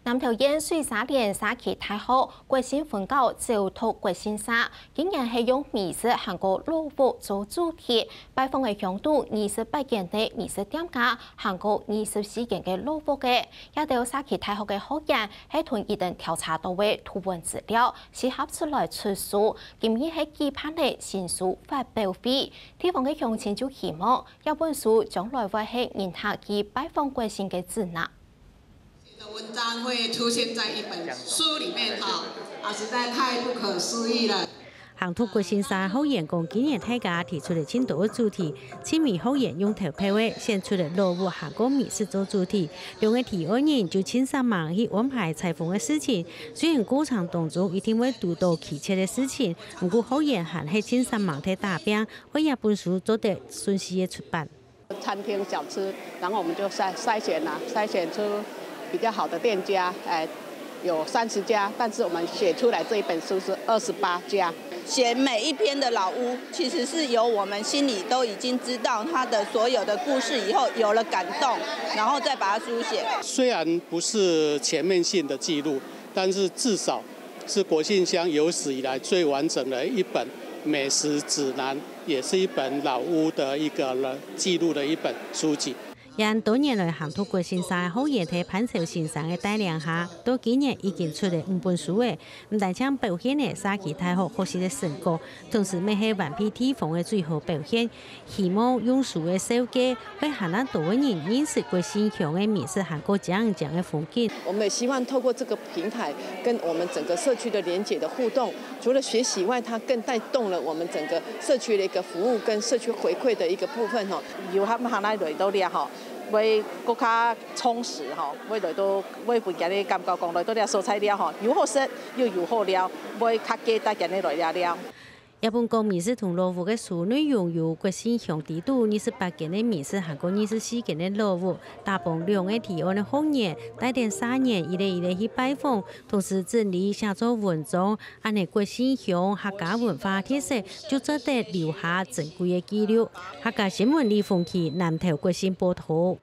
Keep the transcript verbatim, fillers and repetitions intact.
南投縣水沙連社區大學國姓分校走讀國姓社，今年係用美食還過老屋做主題，拜訪个鄉土二十八間个美食店家，還過二十四間个老屋个。這兜社區大學个學員係同佢等調查到个圖文資料，集合出來出書，今日係舉辦个新書發表會。地方个鄉親就希望，這本書將來會係人客去拜訪國姓个指南。 的文章會出現在一本書裡面哈，啊，實在太不可思議了。行讀國姓社學員講，今年大家提出了盡多个主題，盡多學員用投票个選出了老屋還過美食做主題。兩个提案人就盡煞猛去安排採訪个事情，雖然過程當中一定會堵到蹊蹺个事情，毋過學員還係盡煞猛在打拚，為這本書做得順序个出版。 餐廳小吃，然後我們就篩，篩選啊，篩選出比較好的店家，哎，有三十家，但是我們寫出來這一本書是二十八家。選每一篇的老屋，其實是由我們心裡都已經知道它的所有的故事以後，有了感動，然後再把它書寫。雖然不是全面性的記錄，但是至少是國姓鄉有史以來最完整的一本美食指南，也是一本老屋的一個記錄的一本書籍。這多年來行讀國姓社个學員在潘超先生个帶領下，到今年已經出了五本書了，毋單淨表現了社區大學學習个成果，同時乜係灣鼻地方个最好表現。 希望用書个紹介，會還恁多个人認識國姓鄉个美食還過靚靚个風景。我們也希望透過這個平台，跟我們整個社區的連結的互動，除了學習以外，它更帶動了我們整個社區的一個服務跟社區回饋的一個部分吼。遊客還來來到這吼，會更加充實吼，會來到，會分佢个感覺講來到這所在了吼，又好食又又好尞，會較加帶佢來這了。 這本講美食同老屋个書內容有國姓鄉知肚二十八間个美食還過二十四間个老屋，打幫兩个提案个學員，帶等社員一個一個去拜訪，同時整理寫做文章，恁呢國姓鄉客家文化特色就做得留下珍貴个記錄。客家新聞李鳳琪南投國姓報導。